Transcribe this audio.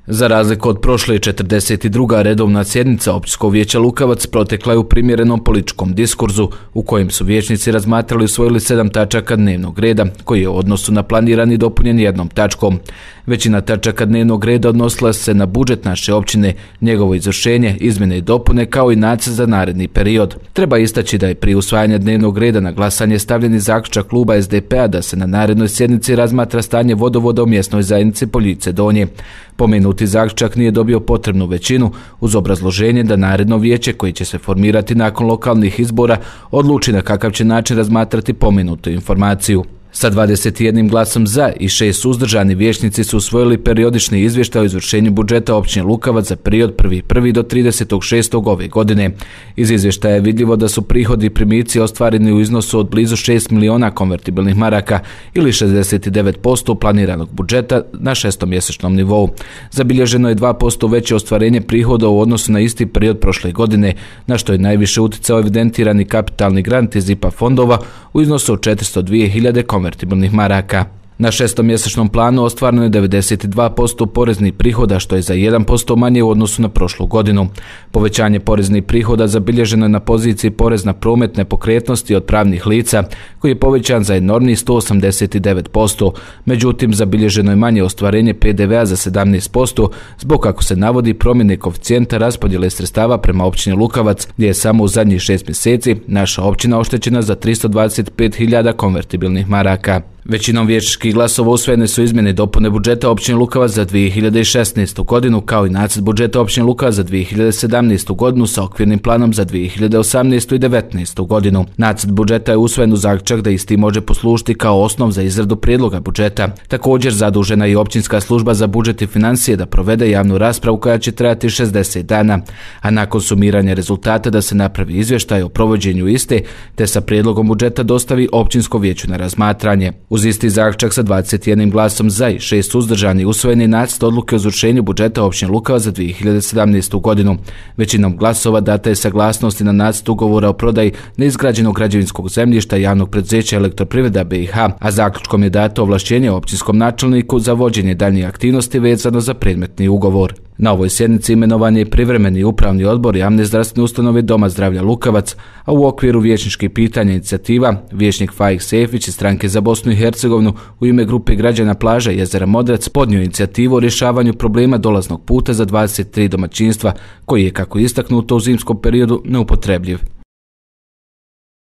Za razliku od prošle 42. redovna sjednica Općinskog vijeća Lukavac protekla je u primjerenom političkom diskurzu u kojem su vijećnici razmatrali i usvojili 7 tačaka dnevnog reda koji je u odnosu na planirani dopunjen jednom tačkom. Većina tačaka dnevnog reda odnosila se na budžet naše općine, njegovo izvršenje, izmjene i dopune kao i nacrt za naredni period. Treba istaći da je prije usvajanja dnevnog reda na glasanje stavljeni zaključak kluba SDP-a da se na narednoj sjednici razmatra stanje vodovoda u mjesnoj zajednici Poljice Donje. Pomenuti zaključak nije dobio potrebnu većinu uz obrazloženje da naredno vijeće koje će se formirati nakon lokalnih izbora odluči na kakav će način razmatrati pomenutu informaciju. Sa 21 glasom za i 6 suzdržani vijećnici su usvojili periodični izvještaj o izvršenju budžeta općine Lukavac za period 1.1. do 30.6. ove godine. Iz izvještaja je vidljivo da su prihodi i primici ostvareni u iznosu od blizu 6 miliona konvertibilnih maraka ili 69% planiranog budžeta na šestomjesečnom nivou. Zabilježeno je 2% veće ostvarenje prihoda u odnosu na isti period prošle godine, na što je najviše utjecao evidentirani kapitalni grant iz IPA fondova u iznosu od 402.000 konvertibilnih maraka. Na šestomjesečnom planu ostvareno je 92% poreznih prihoda, što je za 1% manje u odnosu na prošlu godinu. Povećanje poreznih prihoda zabilježeno je na poziciji porez na promet nepokretnosti od pravnih lica, koji je povećan za enormnih 189%. Međutim, zabilježeno je manje ostvarenje PDV-a za 17%, zbog kako se navodi promjene koeficijenta raspodjele sredstava prema općini Lukavac, gdje je samo u zadnjih 6 mjeseci naša općina oštećena za 325.000 konvertibilnih maraka. Većinom vijećničkih glasova usvojene su izmjene i dopune budžeta općine Lukavac za 2016. godinu kao i nacrt budžeta općine Lukavac za 2017. godinu sa okvirnim planom za 2018. i 2019. godinu. Nacrt budžeta je usvojen u zaključak da isti može poslužiti kao osnov za izradu prijedloga budžeta. Također zadužena je i općinska služba za budžet i financije da provede javnu raspravu koja će trajati 60 dana, a nakon sumiranja rezultata da se napravi izvještaj o provođenju iste te sa prijedlogom budžeta dostavi općinskom vijeću na razmatranje. Uz isti zaključak sa 21 glasom za i 6 suzdržani usvojen je nacrt odluke o izvršenju budžeta općine Lukavac za 2017. godinu. Većinom glasova data je saglasnost na nacrt ugovora o prodaji neizgrađenog građevinskog zemljišta javnog preduzeća Elektroprivreda BiH, a zaključkom je dato ovlašćenje općinskom načelniku za vođenje daljnjih aktivnosti vezano za predmetni ugovor. Na ovoj sjednici imenovan je i privremeni upravni odbor javne zdravstvene ustanove Doma zdravlja Lukavac, a u okviru vijećničkih pitanja inicijativa vijećnik Faik Sefić iz Stranke za Bosnu i Hercegovinu u ime grupe građana plaža Jezera Modrac podnio inicijativu o rješavanju problema dolaznog puta za 23 domaćinstva koji je, kako je istaknuto, u zimskom periodu neupotrebljiv.